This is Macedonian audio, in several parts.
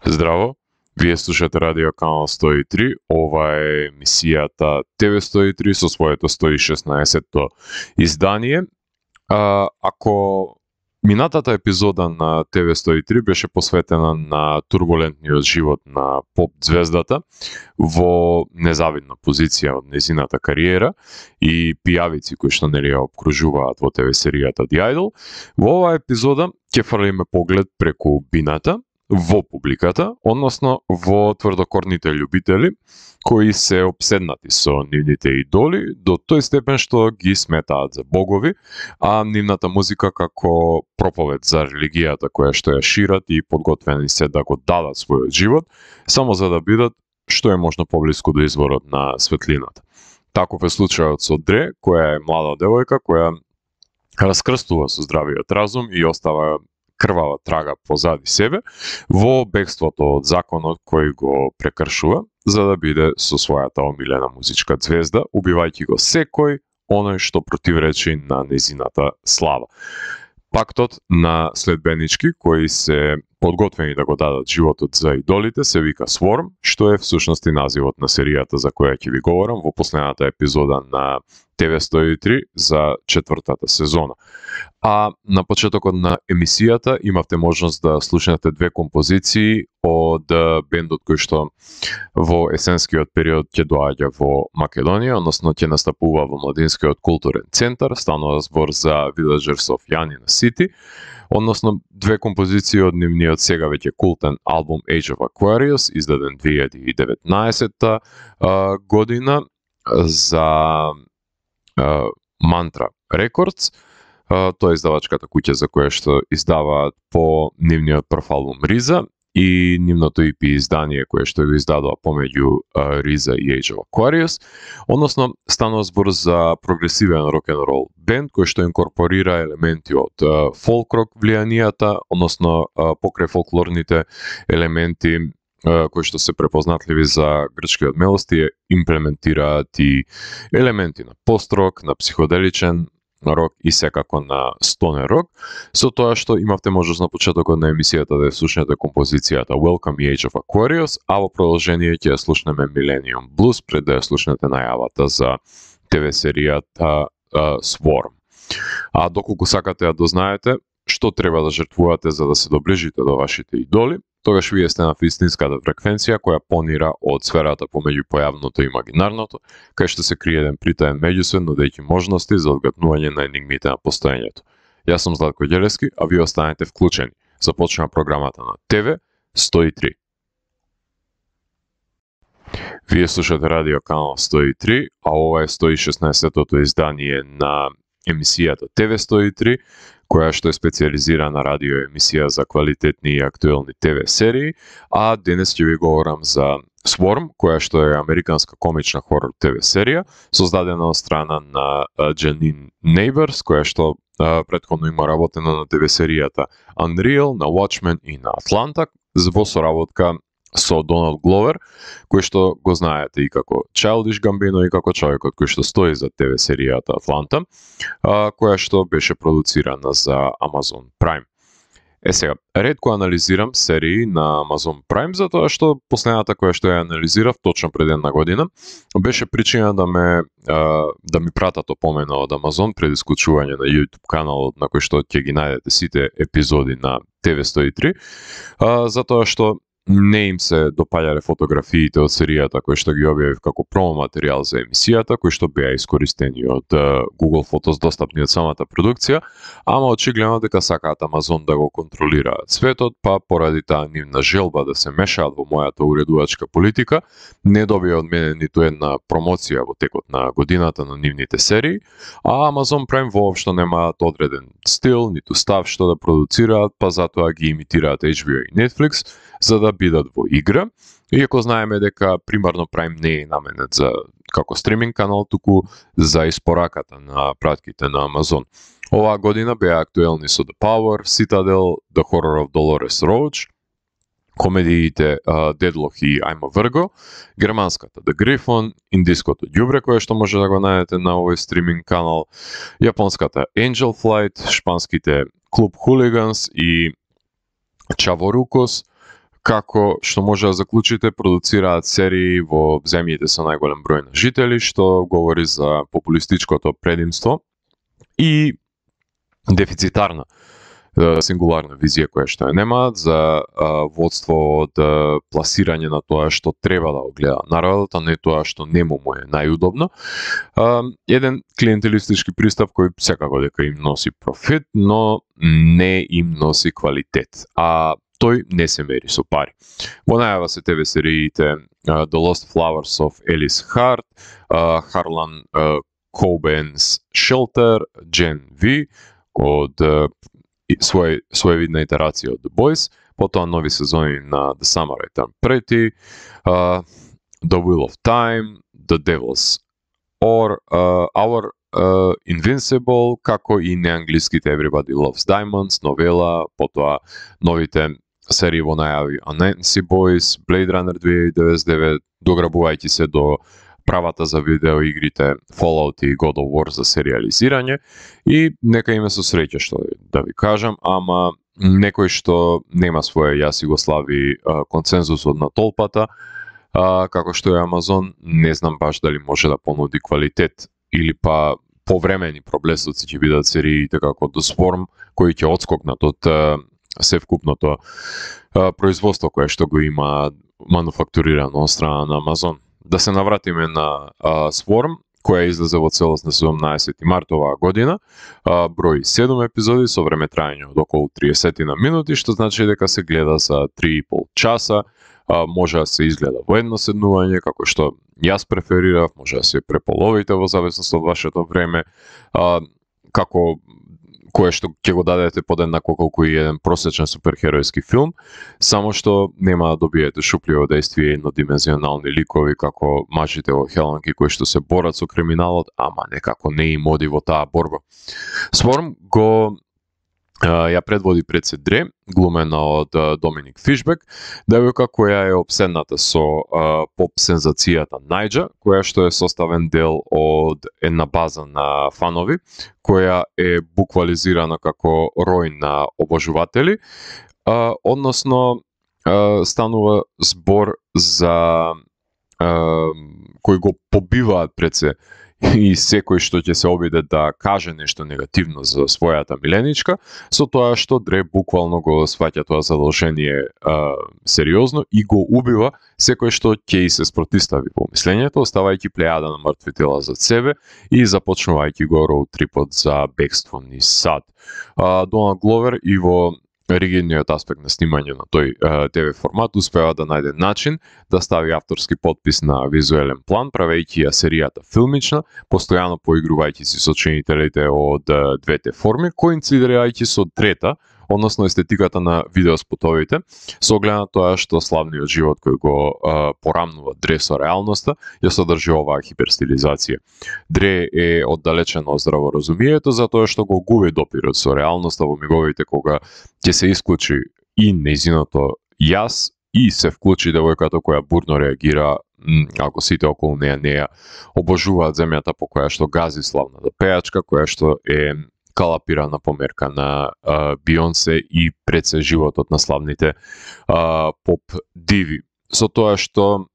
Здраво, вие слушате радио канал 103, ова е емисијата ТВ 103 со своето 116-то издание. Ако минатата епизода на ТВ 103 беше посветена на турбулентниот живот на поп звездата во незавидна позиција од незината кариера и пијавици кои што нели ја обкружуваат во ТВ серијата The Idol, во оваа епизода ќе фрлиме поглед преку бината во публиката, односно во тврдокорните љубители кои се обседнати со нивните идоли до тој степен што ги сметаат за богови, а нивната музика како проповед за религијата која што ја шират и подготвени се да го дадат својот живот, само за да бидат што е можно поблиску до изворот на светлината. Таков е случајот со Дре, која е млада девојка која раскрстува со здравиот разум и остава крвава трага позади себе во бегството од законот кој го прекршува за да биде со својата омилена музичка звезда, убивајќи го секој оној што противречи на незината слава. Пактот на следбенички кои се подготвени да го дадат животот за идолите се вика Swarm, што е всушност и називот на серијата за која ќе ви говорам во последната епизода на ТВ 103 за четвртата сезона. А на почетокот на емисијата имавте можност да слушнете две композиции од бендот кој што во есенскиот период ќе доаѓа во Македонија, односно ќе настапува во Младинскиот културен центар, станува збор за Villagers of Yanina City, односно две композиции од нивниот сега веќе култен албум Age of Aquarius, издаден 2019 година за Mantra Records. Тоа е издавачката куќа за која што издаваат по нивниот прв албум Риза и нивното EP издание кое што го издадоа помеѓу Риза и Age of Aquarius, односно станува збор за прогресивен рок-н-рол бенд кој што инкорпорира елементи од фолк-рок влијанијата, односно покрај фолклорните елементи кои што се препознатливи за грчкиот мелости, имплементираат и елементи на пост-рок, на психоделичен рок и секако на стонер рок, со тоа што имавте можност на почетокот на емисијата да ја слушнете композицијата Welcome и Age of Aquarius, а во продолжение ќе ја слушнеме Millennium Blues пред да ја слушнете најавата за ТВ серијата Swarm. А доколку сакате да дознаете што треба да жртвувате за да се доближите до вашите идоли, тогаш вие сте на вистинската фреквенција која понира од сферата помеѓу појавното и имагинарното, кај што се крие еден притаен меѓусвет, нудејќи можности за одгатнување на енигмите на постоењето. Јас сум Златко Ѓелевски, а вие останете вклучени. Започнува програмата на ТВ 103. Вие слушате радио канал 103, а ова е 116-тото издание на емисијата ТВ 103, која што е специјализирана радио емисија за квалитетни и актуелни ТВ серии, а денес ќе ви говорам за Swarm, која што е американска комична хорор ТВ серија, создадена од страна на Janine Neighbors, која што претходно има работено на ТВ серијата Unreal, на Watchmen и на Atlanta, во соработка со Доналд Гловер, кој што го знаете и како Childish Gambino и како човекот кој што стои за ТВ серијата Atlanta, која што беше продуцирана за Amazon Prime. Сега, ретко анализирам серии на Amazon Prime, затоа што последната која што ја анализирав точно пред една година беше причина да ми пратат опомена од Amazon пред исклучување на YouTube каналот на кој што ќе ги најдете сите епизоди на ТВ 103, затоа што не им се допаѓале фотографиите од серијата кои што ги објавив како промо материјал за емисијата, кои што беа искористени од Google Photos достапни од самата продукција, ама очигледно дека сакаат Amazon да го контролираат светот, па поради таа нивна желба да се мешаат во мојата уредувачка политика, не добија од мене ниту една промоција во текот на годината на нивните серии, а Amazon Prime воопшто немаат одреден стил, ниту став што да продуцираат, па затоа ги имитираат HBO и Netflix, за да бидат во игра, иако знаеме дека примарно Prime не е наменет за како стриминг канал, туку за испораката на пратките на Amazon. Оваа година беа актуелни со The Power, Citadel, The Horror of Dolores Roach, комедиите Deadlock и I'm a Virgo, германската The Griffon, индиското ѓубре кое што може да го најдете на овој стриминг канал, јапонската Angel Flight, шпанските Клуб Хулиганс и Чаворукос, како што може да заклучите, продуцираат серии во земјите со најголем број на жители, што говори за популистичкото предимство и дефицитарна сингуларна визија која што ја немаат за водство од пласирање на тоа што треба да го гледа народот, а не тоа што нему му е најудобно. Еден клиентелистички пристап кој секако дека им носи профит, но не им носи квалитет, а тој не се мери со пари. Во најава се ТВ сериите The Lost Flowers of Alice Hart, Harlan Coben's Shelter, Gen V, од своевидна итерација од The Boys, потоа нови сезони на The Summer I Turned Pretty, The Wheel of Time, The Devil's Hour, Invincible, како и неанглиските Everybody Loves Diamonds, новела, потоа новите серии во најави Anansi Boys, Blade Runner 2099, дограбувајќи се до правата за видеоигрите Fallout и God of War за сериализирање, и нека име со среќа што да ви кажам, ама некој што нема своја јас и го слави консензусот на толпата, како што е Амазон, не знам баш дали може да понуди квалитет или па повремени проблесоци ќе бидат сериите како The Swarm, кои ќе отскокнат од севкупното производство кое што го има мануфактурирано од страна на Амазон. Да се навратиме на Swarm, која излезе во целост на 17 март оваа година, број 7 епизоди со време трајање од околу 30 на минути, што значи дека се гледа за 3,5 часа, може да се изгледа во едно седнување, како што јас преферирав, може да се преполовите во зависност од вашето време, како кое што ќе го дадете подеднакво колку и еден просечен суперхеројски филм, само што нема да добиете шупливо дејствие и еднодимензионални ликови како мажите во Хеланки кои што се борат со криминалот, ама некако не им оди во таа борба. Swarm го ја предводи пред се Дре, глумена од Доминик Фишбек, девојка која е обседната со поп-сензацијата Најџа, која што е составен дел од една база на фанови, која е буквализирана како рој на обожуватели, односно станува збор за кои го побиваат пред се и секој што ќе се обиде да каже нешто негативно за својата миленичка, со тоа што Дре буквално го сваќа тоа задолжение сериозно и го убива секој што ќе и се спротистави во мислењето, оставајќи плејада на мртви тела зад себе и започнувајќи го роуд трипот за бегство низ сад. Доналд Гловер и во ригидниот аспект на снимање на тој ТВ формат успева да најде начин да стави авторски подпис на визуелен план, правејќи ја серијата филмична, постојано поигрувајќи си со чинителите од двете форми, коинцидирајќи со трета, односно естетиката на видеоспотовите, со оглед на тоа што славниот живот кој го порамнува Дре со реалноста, ја содржи оваа хиперстилизација. Дре е оддалечен од здраворазумието затоа што го губи допирот со реалноста во миговите кога ќе се исклучи и нејзиното јас и се вклучи девојката која бурно реагира ако сите околу неја обожуваат земјата по која што гази славната пејачка, која што е калапирана померка на Бионсе и пред се животот на славните поп диви. Со тоа што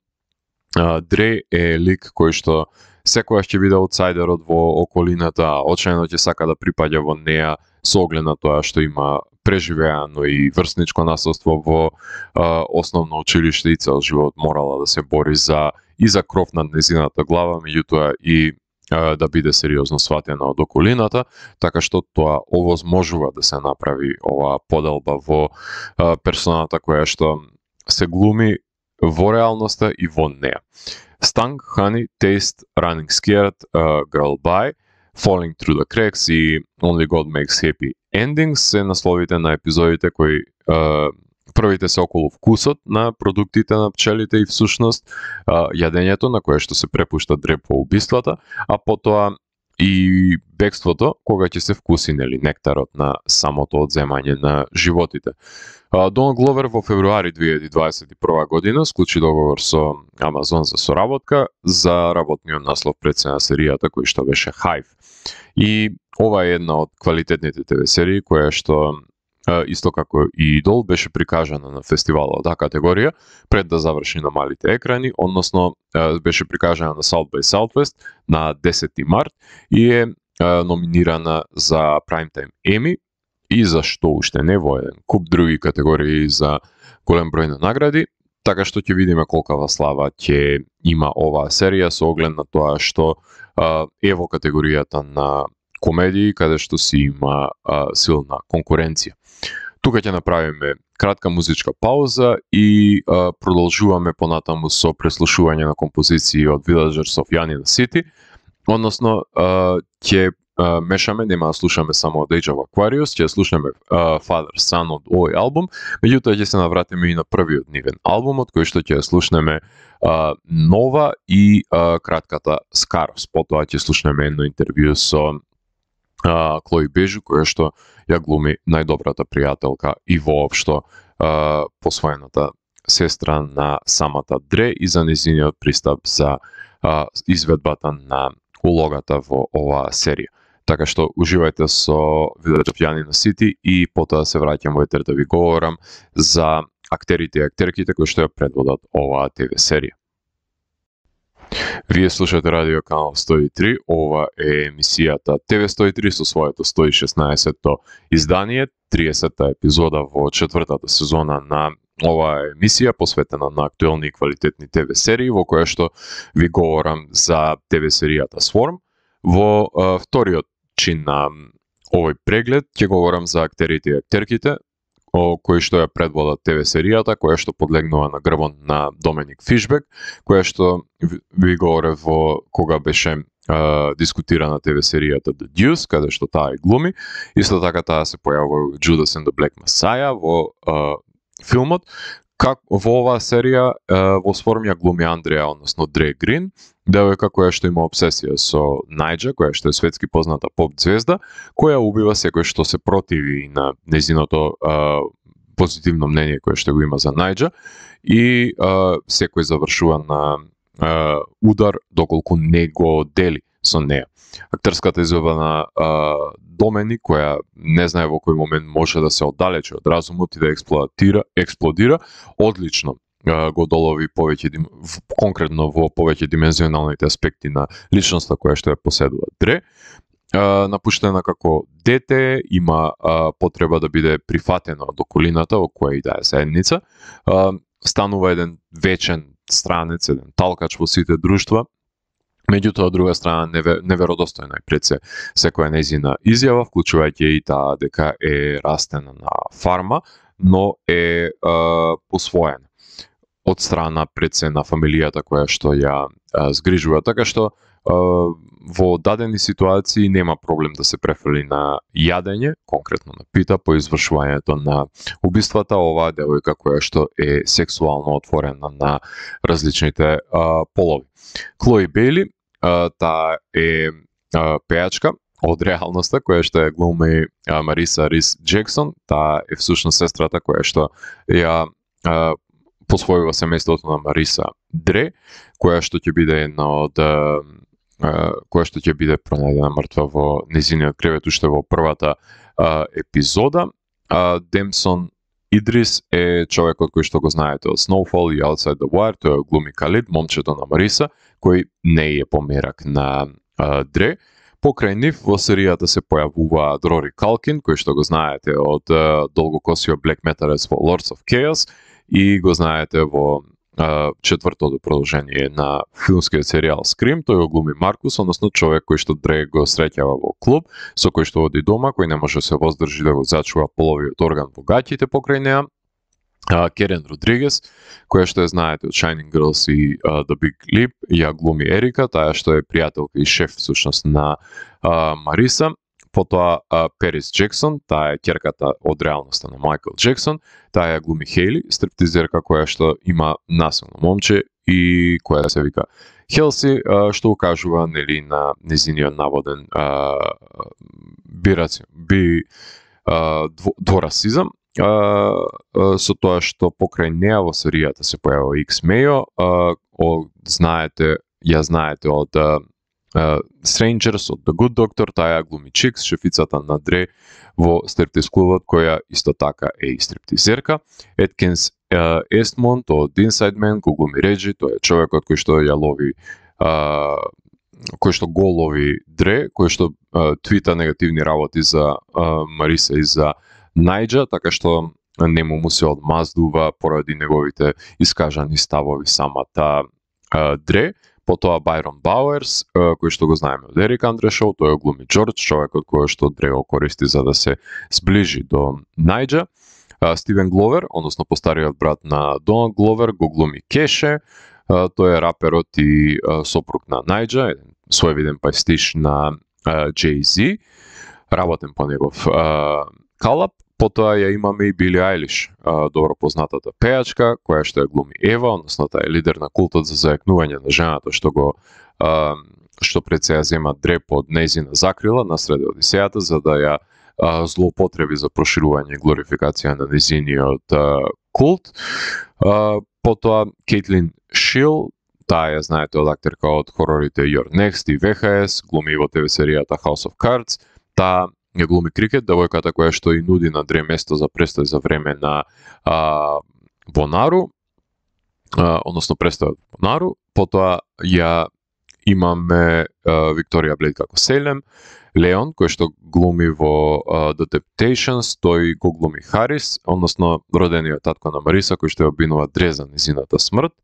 Дре е лик кој што секогаш ќе биде аутсайдерот во околината, очајно ќе сака да припаѓа во неа со оглед на тоа што има преживеано и врсничко насилство во основно училиште и цел живот морала да се бори за кров над незината глава, меѓутоа и да биде сериозно сватена од околината, така што тоа овозможува да се направи оваа поделба во персоната која што се глуми во реалноста и во неа. Stung, Honey, Taste, Running Scared, Girl Bye, Falling Through the Cracks и Only God Makes Happy Endings се насловите на епизодите кои првите се околу вкусот на продуктите на пчелите и всушност јадењето на кое што се препушта Дре по убиствата, а потоа и бегството кога ќе се вкуси нектарот на самото одземање на животите. Доналд Гловер во февруари 2021 година склучи договор со Амазон за соработка за работниот наслов пред се на серијата кој што беше Hive. И ова е една од квалитетните ТВ серии која што исто како и Идол, беше прикажана на фестивалот А категорија пред да заврши на малите екрани, односно беше прикажана на South by Southwest на 10 март и е номинирана за Primetime Emmy и за што уште не во еден куп други категории за голем број на награди, така што ќе видиме колкава слава ќе има оваа серија со оглед на тоа што е во категоријата на комедии, каде што си има силна конкуренција. Тука ќе направиме кратка музичка пауза и продолжуваме понатаму со преслушување на композиции од Villagers of Yanina City, односно ќе мешаме, нема да слушаме само од Age of Aquarius, ќе слушаме Father Son од овој албум, меѓутоа ќе се навратиме и на првиот нивен албум, од кој што ќе слушнеме Нова и кратката Скарос. Потоа ќе слушнеме едно интервју со Клои Бежу, која што ја глуми најдобрата пријателка и воопшто посвоената сестра на самата Дре и за нејзиниот пристап за изведбата на улогата во оваа серија. Така што уживајте со Village of Yanina City и потоа се враќам во етер да ви говорам за актерите и актерките кои што ја предводат оваа ТВ серија. Вие слушате Радио Канал 103, ова е емисијата ТВ 103 со своето 116-то издание, 30-та епизода во четвртата сезона на оваа емисија посветена на актуелни и квалитетни ТВ серии, во која што ви говорам за ТВ серијата Swarm. Во вториот чин на овој преглед ќе говорам за актерите и актерките кои што ја предводат ТВ серијата, која што подлегнува на грбот на Доменик Фишбек, која што ви говорев во кога беше дискутирана ТВ серијата The Deuce, каде што таа и глуми. Исто така таа се појавува Judas and the Black Messiah во филмот. Во оваа серија во Swarm ја глуми Андреа, односно Дре Грин, девојка која што има обсесија со Најджа, која што е светски позната поп звезда, која убива секој што се противи на нејзиното позитивно мнение кое што го има за Најджа и секој завршува на удар доколку не го дели со неа. Актерската изvedба на Доменик, која не знае во кој момент може да се оддалечи од разумот и да експлодира, одлично го долови повеќе конкретно во повеќе димензионалните аспекти на личноста која што ја поседува Дре. Напуштена како дете, има потреба да биде прифатена од околината во која и да е заедница. Станува еден вечен странец, еден талкач во сите друштва. Меѓутоа, од друга страна, неверодостојна е пред се секоја нејзина изјава, вклучувајќи и таа дека е растена на фарма, но е посвоена од страна пред се на фамилијата која што ја згрижува. Така што во дадени ситуации нема проблем да се префрли на јадење, конкретно на пита по извршувањето на убиствата. Оваа девојка која што е сексуално отворена на различните полови. Клои Бейли, таа е пејачка од реалноста, која што ја глуми Мариса Рис Джексон. Таа е всушност сестрата која што ја посвојува семејството на Мариса Дре, која што ќе биде една од која што ќе биде пронајдена мртва во нејзиниот кревет уште во првата епизода. Демсон Идрис е човекот кој што го знаете од Snowfall и Outside the Wire, тој глуми Калид, момчето на Мариса, кој не е померак на Дре. Покрај нив во серијата се појавува Рори Калкин, кој што го знаете од долгокосиот Black Metalец во Lords of Chaos и го знаете во четвртото продолжение на филмскиот серијал Scream. Тој го глуми Маркус, односно човек кој што Дре го среќава во клуб, со кој што оди дома, кој не може се воздржи да го зачува половиот орган во гаќите покрај неа. Керен Родригес, која што ја знаете од Shining Girls и The Big Leap, ја глуми Ерика, таа што е пријателка и шеф всушност на Мариса. Потоа Перис Джексон, таа е ќерката од реалноста на Майкл Джексон, таа ја глуми Хейли, стриптизерка која што има насилно момче и која се вика Хелси, што укажува нели на нејзиниот наводен дворасизам. Со тоа што покрај неа во серијата се појавува Икс Мејо, ја знаете од Strangers од The Good Doctor, таа глуми Чикс, шефицата на Дре во стриптиз клубот, која исто така е и стриптизерка. Еткинс Естмонт од Inside Man го глуми Реджи, тој е човекот кој што ја лови кој што го лови Дре, кој што твита негативни работи за Мариса и за Најджа, така што нему му се одмаздува поради неговите искажани ставови самата Дре. Потоа Байрон Бауерс, кој што го знаеме од Ерик Андре Шоу, тој го глуми Джордж, човекот кој што Дре го користи за да се сближи до Најджа. Стивен Гловер, односно постариот брат на Доналд Гловер, го глуми Кеше, тој е раперот и сопруг на Најджа, своевиден пајстиш на Jay-Z, работен по негов калап. Потоа ја имаме и Били Айлиш, добро познатата пејачка, која што ја глуми Ева, односно таа е лидер на култот за зајакнување на жената, што пред се ја зема Дре под нејзина закрила насред Одисејата, за да ја злоупотреби за проширување и глорификација на нејзиниот култ. Потоа Кейтлин Шил, таа ја знаете од актерка од хорорите You're Next и VHS, глуми во ТВ серијата House of Cards. Таа ја глуми Крикет, девојката која што и нуди на Дре место за престој за време на Бонару, односно престојот Бонару. Потоа ја имаме Викторија Блейд како Селем, Леон, кој што глуми во The Temptations, тој го глуми Харис, односно родениот татко на Мариса, кој што ја обвинува Дре за низината смрт.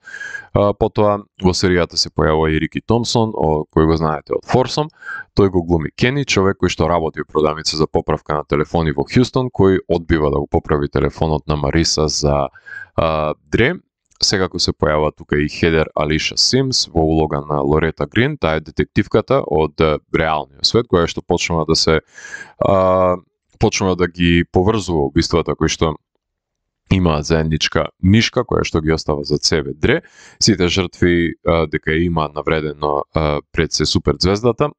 Потоа во серијата се појавува и Рики Томсон, кој го знаете од Форсом. Тој го глуми Кени, човек кој што работи во продавница за поправка на телефони во Хјустон, кој одбива да го поправи телефонот на Мариса за Дре. Секако се појава тука и Хедер Алиша Симс во улога на Лорета Грин, таа е детективката од реалниот свет, која што почнува да ги поврзува убиствата кои што имаат заедничка нишка, која што ги остава за себе Дре. Сите жртви дека има навредено пред се суперзвездата,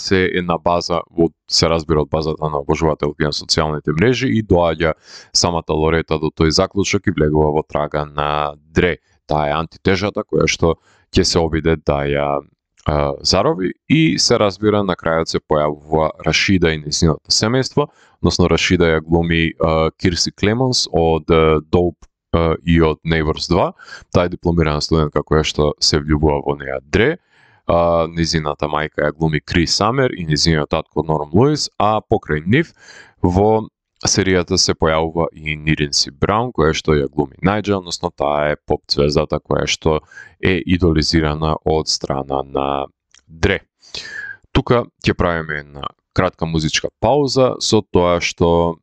се е на база, се разбира од базата на обожувателки на социјалните мрежи и доаѓа самата Лорета до тој заклучок и влегува во трага на Дре. Таа е антитежата која што ќе се обиде да ја зарови и се разбира на крајот се појавува Рашида и нејзиното семејство, односно Рашида ја глуми Кирси Клемонс од Dope и од Neighbors 2. Таа е дипломирана студентка која што се влюбува во неа Дре. Нејзината мајка ја глуми Крис Самер и нејзиниот татко Норм Луис, а покрај нив во серијата се појавува и Ниринси Браун, која што ја глуми Најджа, односно таа е поп звездата која што е идолизирана од страна на Дре. Тука ќе правиме една кратка музичка пауза со тоа што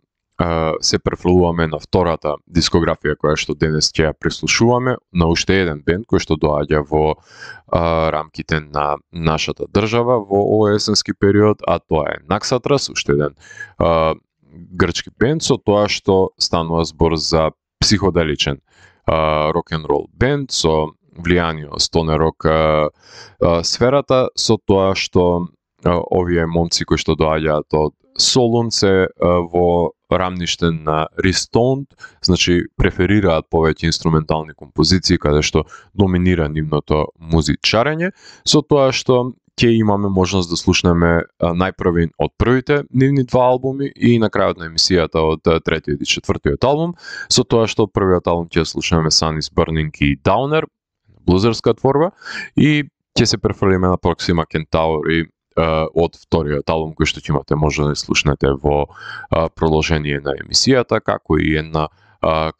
се префрлуваме на втората дискографија која што денес ќе ја преслушуваме на уште еден бенд кој што доаѓа во рамките на нашата држава во овој есенски период, а тоа е Наксатрас, уште еден грчки бенд, со тоа што станува збор за психоделичен рок-н-рол бенд со влијание стоне рок сферата, со тоа што овие момци кои што доаѓаат од Солун се во рамниште на Ристонт, значи преферираат повеќе инструментални композиции каде што доминира нивното музичарење, со тоа што ќе имаме можност да слушнеме најпрвин од првите нивни два албуми и на крајот на емисијата од третиот и четвртиот албум, со тоа што првиот албум ќе слушнеме Sun is Burning и Downer, блузерска творба, и ќе се префрлиме на Proxima Centauri од вториот албум кој што ќе имате може да слушнете во продолжение на емисијата, како и една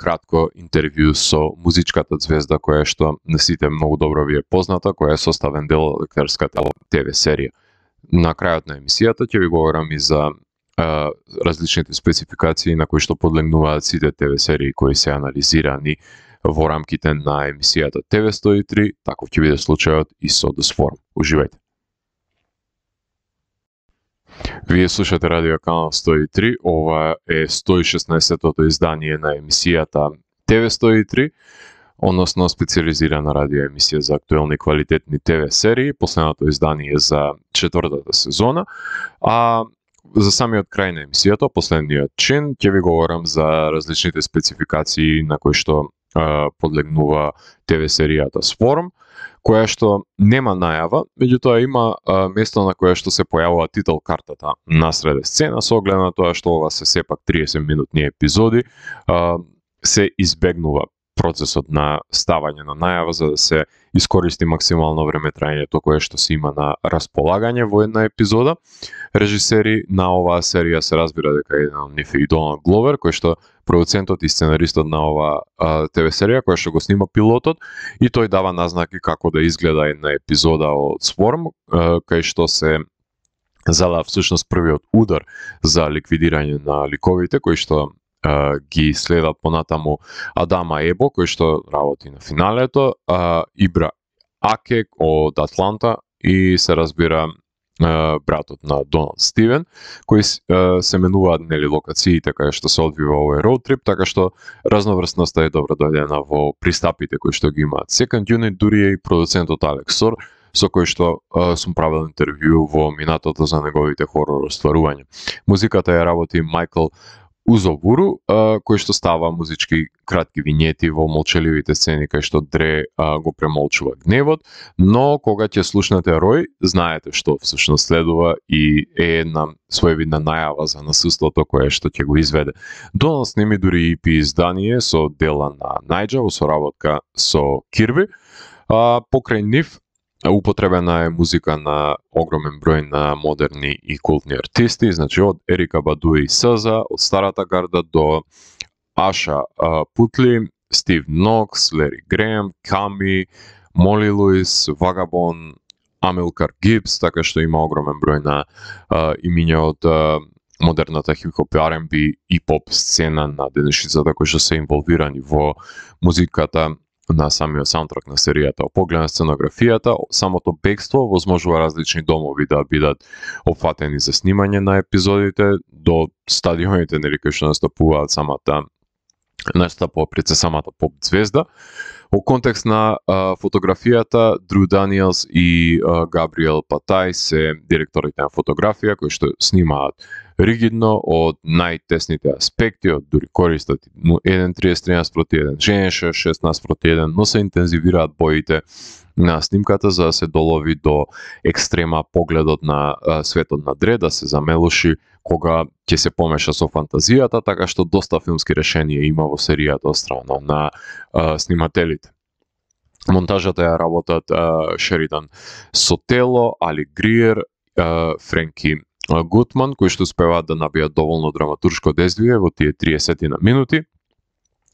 кратко интервју со музичката звезда која што на сите многу добро ви е позната, која е составен дел од лекарската ТВ серија. На крајот на емисијата ќе ви говорам и за различните спецификации на кои што подлегнуваат сите ТВ серии кои се анализирани во рамките на емисијата ТВ 103, таков ќе биде случајот и со The Swarm. Уживајте! Вие слушате Радио Канал 103, ова е 116-тото издание на емисијата ТВ 103, односно специализирана радио емисија за актуелни квалитетни ТВ серии, последното издание за четвртата сезона, а за самиот крај на емисијата, последниот чин, ќе ви говорам за различните спецификации на кои што подлегнува ТВ серијата Swarm, која што нема најава, меѓутоа има место на кое што се појавува титул картата насреде сцена, со оглед на тоа што ова се сепак 30 минутни епизоди, се избегнува процесот на ставање на најава за да се искористи максимално време траењето кое што се има на располагање во една епизода. Режисери на оваа серија се разбира дека еден од нив е и Доналд Гловер, кој што продуцентот и сценаристот на оваа ТВ серија која што го снима пилотот, и тој дава назнаки како да изгледа една епизода од Swarm, кај што се зада всушност првиот удар за ликвидирање на ликовите кои што ги следат понатаму Адама Ебо, кој што работи на финалето, Ибра Акек од Атланта и се разбира братот на Доналд Стивен, кои се менуваат нели локациите кај што се одвива овој роуд трип, така што разноврсноста е добро дојдена во пристапите кои што ги имаат. Second Unit дури е и продуцентот Алекс Сор, со кој што сум правил интервју во минатото за неговите хорор остварувања. Музиката ја работи Майкл Узобуру, кој што става музички кратки винјети во молчеливите сцени кај што Дре го премолчува гневот, но кога ќе слушнете Рој, знаете што всушност следува и е една своевидна најава за насуството кое што ќе го изведе. Доналд снеми дури EP издание со дела на Најджа во соработка со Кирби, покрај нив употребена е музика на огромен број на модерни и култни артисти, значи од Ерика Баду и Саза, од старата гарда до Аша Путли, Стив Нокс, Лери Греем, Ками, Моли Луис, Вагабон, Амилкар Гибс, така што има огромен број на имиња од модерната хип-хоп, R&B и поп сцена на денешницата кои што се инволвирани во музиката на самиот саундтрак на серијата. Од поглед на сценографијата, самото бегство возможува различни домови да бидат опфатени за снимање на епизодите, до стадионите нели кои што настапуваат пред самата поп звезда. Во контекст на фотографијата, Дрю Даниелс и Габриел Патай се директорите на фотографија кои што снимаат ригидно од најтесните аспекти, од дури користат 1:30:1, женеше 16:1, но се интензивираат боите на снимката за да се долови до екстрема погледот на светот на Дре, да се замелуши кога ќе се помеша со фантазијата, така што доста филмски решенија има во серијата од страна на снимателите. Монтажата ја работат Шеридан Сотело, Али Гриер, Френки Гутман, кои што успеваат да набијат доволно драматуршко дезвие во тие 30 минути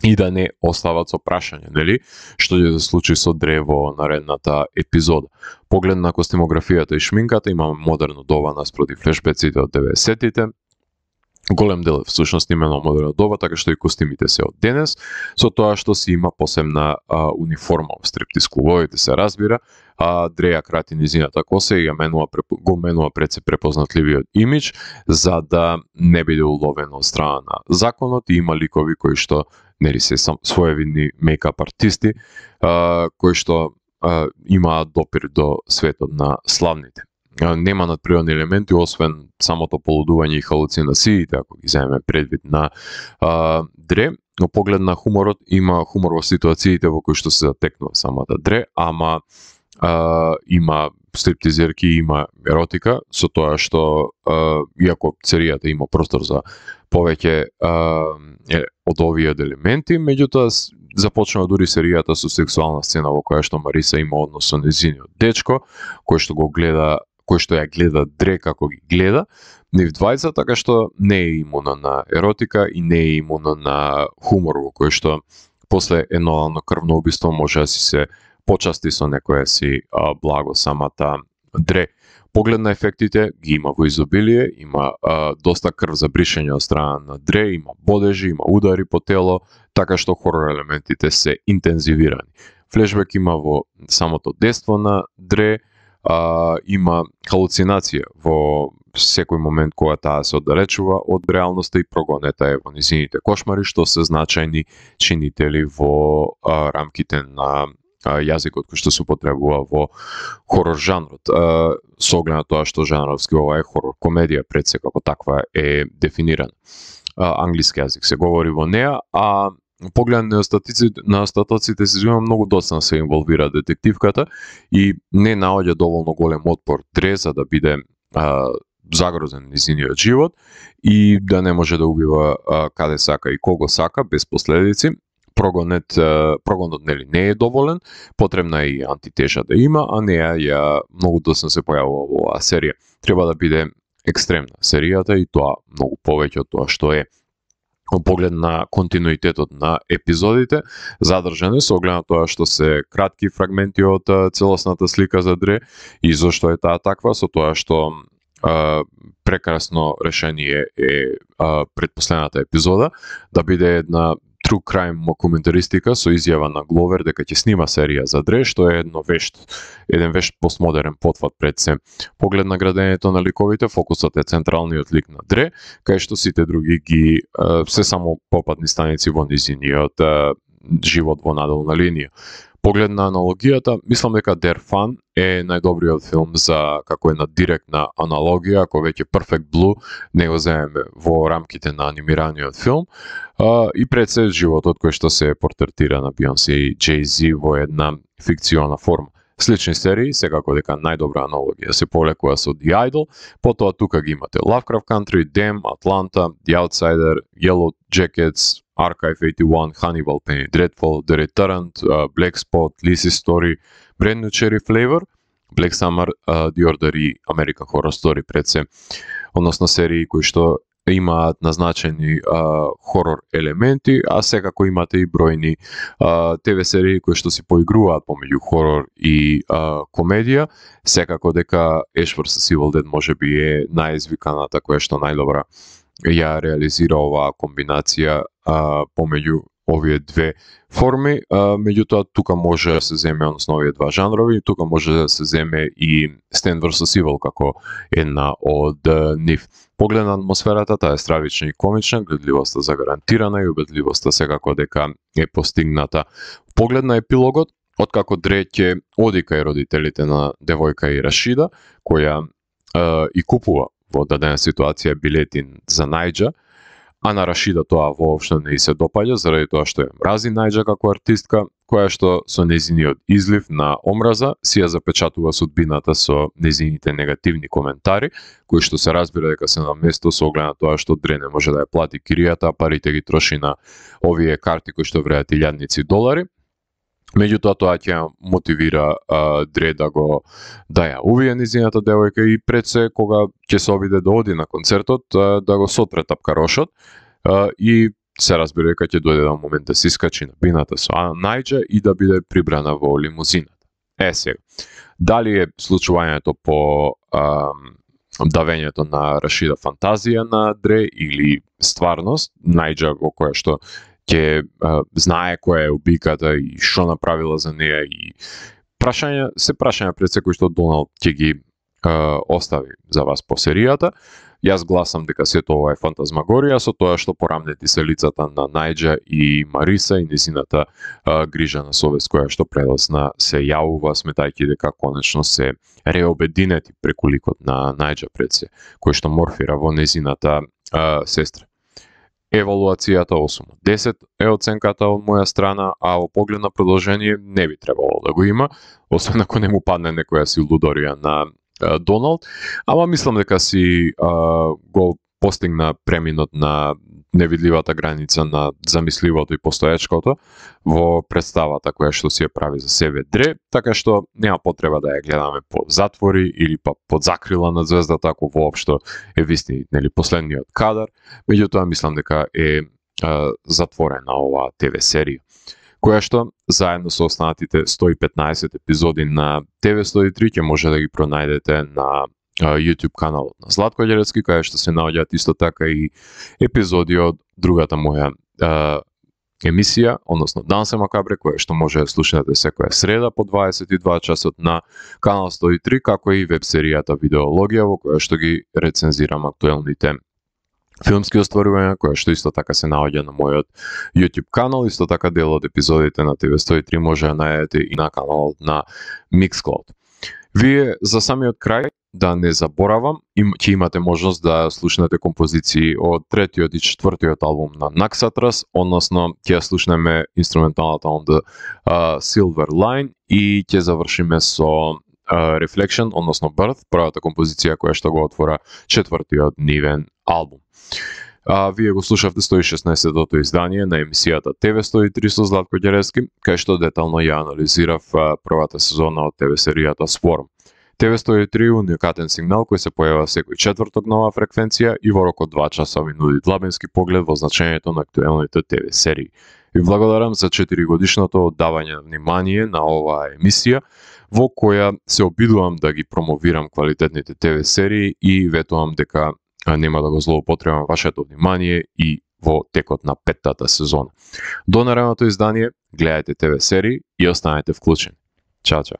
и да не остават со прашање, нели, што ќе се случи со Дре во наредната епизода. Поглед на костимографијата и шминката, имаме модерно доба наспроти флешбеците од 90-тите. Голем дел всушност имено модерно доба, така што и костимите се од денес, со тоа што си има посебна униформа во стриптиз клубовите се разбира, Дре ја крати низината коса и го менува пред се препознатливиот имидж за да не биде уловен од страна на законот и има ликови кои што нели се своевидни мейкап артисти кои што имаат допир до светот на славните. Нема надприродни елементи, освен самото полудување и халуцинациите, ако ги земеме предвид на Дре. Но поглед на хуморот, има хумор во ситуациите во кои што се затекнува самата Дре, ама има стриптизерки, има еротика, со тоа што, иако серијата има простор за повеќе од овие елементи, меѓутоа започнува дури серијата со сексуална сцена во која што Мариса има однос со нејзиниот дечко, кој што ја гледа Дре како ги гледа, нив двајца, така што не е имуна на еротика и не е имуна на хумор во кој што после едно крвно убиство може да си се почасти со некоја си благо самата Дре. Поглед на ефектите ги има во изобилие, има доста крв за бришење од страна на Дре, има бодежи, има удари по тело, така што хорор елементите се интензивирани. Флешбек има во самото детство на Дре, има халуцинација во секој момент кога таа се оддалечува од реалноста и прогонета е во низините кошмари, што се значајни чинители во рамките на јазикот кој што се употребува во хорор жанрот. Со оглед на тоа што жанровски ова е хорор комедија, пред се како таква е дефинирана. Англиски јазик се говори во неа, а погледам на остатоците се има многу доцна се инволвира детективката и не наоѓа доволно голем отпор Дре за да биде загрозен низиниот живот и да не може да убива каде сака и кого сака без последици. Прогонот нели не е доволен, потребна е и антитежа да има, а неа ја многу доцна се појавува во оваа серија. Треба да биде екстремна серијата и тоа многу повеќе од тоа што е. Во поглед на континуитетот на епизодите, задржане со оглед на тоа што се кратки фрагменти од целосната слика за Дре и зошто е таа таква, со тоа што прекрасно решение е предпоследната епизода да биде една true crime мокументаристика со изјава на Гловер дека ќе снима серија за Дре, што е еден вешт постмодерен потфат пред се. Поглед на градењето на ликовите, фокусот е централниот лик на Дре, кај што сите други ги се само попатни станици во низиниот живот во надолна линија. Поглед на аналогијата, мислам дека Дер Фан е најдобриот филм за како една директна аналогија, ако веќе Perfect Blue не го земеме во рамките на анимираниот филм, и пред се животот кој што се портретира на Бионсе и Jay-Z во една фикциона форма. Слични серии, секако дека најдобра аналогија се повлекува со The Idol, потоа тука ги имате Lovecraft Country, Them, Atlanta, The Outsider, Yellow Jackets, Archive 81, Hannibal, Penny Dreadful, The Returnant, Black Spot, Lizzie's Story, Brand New Cherry Flavor, Black Summer, The Order и American Horror Story пред се, односно серии кои што имаат назначени хорор елементи, а секако имате и бројни ТВ серии кои што се поигруваат помеѓу хорор и комедија. Секако дека Ash vs Evil Dead можеби е најизвиканата која што најдобра ја реализира оваа комбинација помеѓу овие две форми, меѓутоа тука може да се земе, односно овие два жанрови, тука може да се земе и Stand vs Evil како една од нив. Поглед на атмосферата, таа е стравична и комична, гледливоста загарантирана и убедливоста секако дека е постигната. Поглед на епилогот, откако Дре ќе оди кај родителите на девојка и Рашида, која и купува во дадена ситуација билети за Најџа, а на Рашида тоа воопшто не се допаѓа заради тоа што ја мрази Најџа како артистка, која што со нејзиниот излив на омраза си ја запечатува судбината со нејзините негативни коментари, кои што се разбира дека се на место со оглед на тоа што Дре не може да ја плати киријата, а парите ги троши на овие карти кои што вреат илјадници долари. Меѓутоа тоа ќе ја мотивира Дре да ја увие низината девојка и пред се кога ќе се обиде да оди на концертот да го сотре тапкарошот и се разбира дека ќе дојде на момент да се искачи на бината со Најџа и да биде прибрана во лимузината. Сега, дали е случувањето по давењето на Рашида фантазија на Дре или стварност, Најџа во која што ќе знае која е убиката и што направила за неја и прашања пред секој што Доналд ќе ги остави за вас по серијата. Јас гласам дека сето ова е фантазмагорија со тоа што порамнети се лицата на Најџа и Мариса и незината грижа на совест која што предосна се јавува, сметајќи дека конечно се реобединети преку ликот на Најџа пред се, кој што морфира во незината сестра. Евалуацијата 8 од 10 е оценката од моја страна, а во поглед на продолжение не би требало да го има, освен ако не му падне некоја си лудорија на Доналд, ама мислам дека си го постигна преминот на невидливата граница на замисливото и постоечкото во представата која што си ја прави за себе Дре, така што нема потреба да ја гледаме по затвори или па под закрила на звездата, ако воопшто е висни нели последниот кадар, меѓутоа мислам дека е затворена оваа ТВ серија, која што заедно со останатите 115 епизоди на ТВ 103 ќе може да ги пронајдете на YouTube каналот на Златко Ѓерецки, кај што се наоѓаат исто така и епизоди од другата моја емисија, односно Дансе Макабре, која што може да слушате секоја среда по 22 часот на канал 103, како и веб серијата Видеологија, во која што ги рецензирам актуелните филмски остварувања, која што исто така се наоѓа на мојот YouTube канал, исто така дел од епизодите на ТВ 103 може да најдете и на каналот на Mixcloud. Вие за самиот крај да не заборавам, ќе имате можност да слушнете композиции од третиот и четвртиот албум на Naxatras, односно ќе слушнеме инструменталната on the Silver Line и ќе завршиме со Reflection, односно Birth, првата композиција која што го отвора четвртиот нивен албум. Вие го слушавте 116-тото издание на емисијата TV103 со Златко Ѓеревски, кај што детално ја анализирав првата сезона од ТВ серијата Swarm. TV103 уникатен сигнал кој се појава секој четврток нова фреквенција и во рок од 2 часа ви нуди длабински поглед во значењето на актуелните ТВ серии. Ви благодарам за 4 годишното оддавање внимание на оваа емисија, во која се обидувам да ги промовирам квалитетните ТВ серии и ветувам дека нема да го злоупотребам вашето внимание и во текот на 5-тата сезона. До наредното издание, гледајте ТВ серии и останете вклучени. Чао, чао.